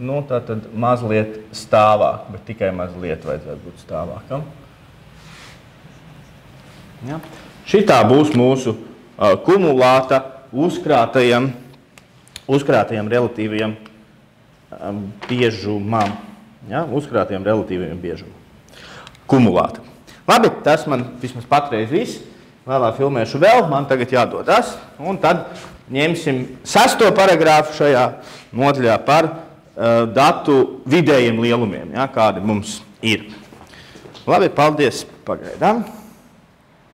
Nu, tā tad mazliet stāvāk, bet tikai mazliet vajadzētu būt stāvākam. Ja. Šitā būs mūsu kumulāta uzkrātajam relatīvajam biežumam. Ja, uzkrātajam relatīvajam biežumam. Kumulāta. Labi, tas man vismaz patreiz viss. Vēlāk filmēšu vēl, man tagad jādodas. Un tad ņemsim 6. paragrāfu šajā nodaļā par datu vidējiem lielumiem, ja, kādi mums ir. Labi, paldies pagaidām.